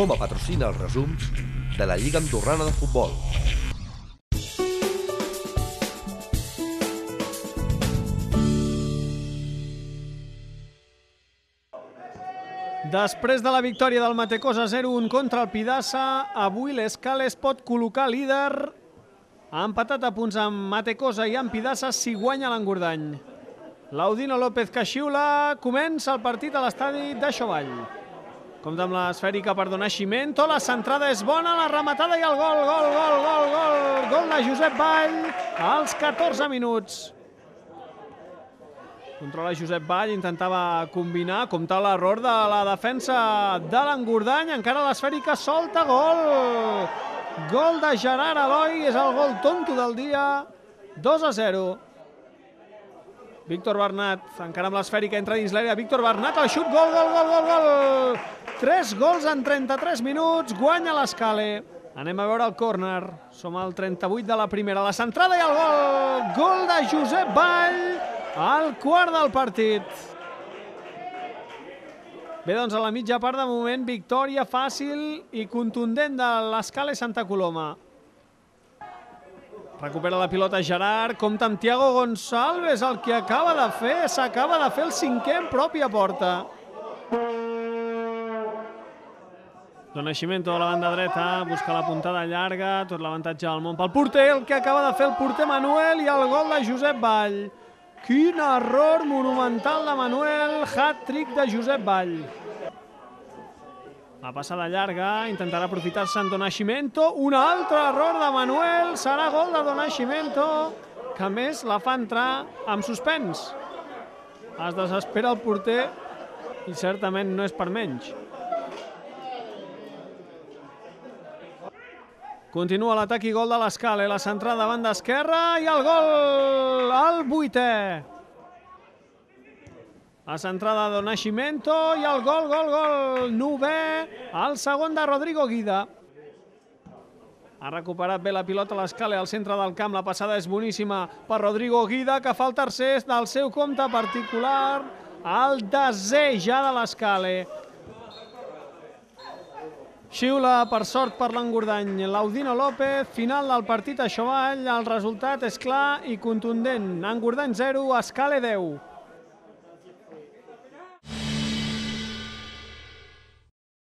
Foma patrocina els resums de la Lliga Andorrana de Futbol. Després de la victòria del Matecosa 0-1 contra el Pidassa, avui l'Escala es pot col·locar líder. Ha empatat a punts amb Matecosa i amb Pidassa si guanya l'Engordany. Laudino López que xiula, comença el partit a l'estadi de Xovall. Compte amb l'esfèrica per donar Ximento, la centrada és bona, la rematada i el gol, gol de Josep Vall als 14 minuts. Controla Josep Vall, intentava combinar, compta l'error de la defensa de l'Engordany, encara l'esfèrica solta, gol! Gol de Gerard Eloi, és el gol tonto del dia, 2-0. Víctor Bernat, encara amb l'esfèrica, entra dins l'àrea, Víctor Bernat, el xut, gol! 3 gols en 33 minuts, guanya l'Escala. Anem a veure el córner, som al 38 de la primera, la centrada i el gol! Gol de Josep Vall, al quart del partit. Bé, doncs a la mitja part de moment, victòria fàcil i contundent de l'Escala Santa Coloma. Recupera la pilota Gerard, compta amb Thiago Gonçalves, el que acaba de fer, s'acaba de fer el 5è en pròpia porta. Dona Ximento a la banda dreta, busca la puntada llarga, tot l'avantatge del món pel porter, el que acaba de fer el porter Manuel i el gol de Josep Vall. Quin error monumental de Manuel, hat-trick de Josep Vall. La passada llarga, intentarà aprofitar-se en Donashimento, un altre error de Manuel, serà gol de Donashimento, que a més la fa entrar amb suspens. Es desespera el porter i certament no és per menys. Continua l'atac i gol de l'Escala, la centrada de banda esquerra i el gol, el 8è. La centrada de Donashimento i el gol, 9è, el segon de Rodrigo Guida. Ha recuperat bé la pilota a l'Escala al centre del camp, la passada és boníssima per Rodrigo Guida, que fa el tercer del seu compte particular, el 10è ja de l'Escala. Xiula, per sort, per l'Engordany. Laudino López, final del partit a Xovall. El resultat és clar i contundent. Engordany 0, Escala 10.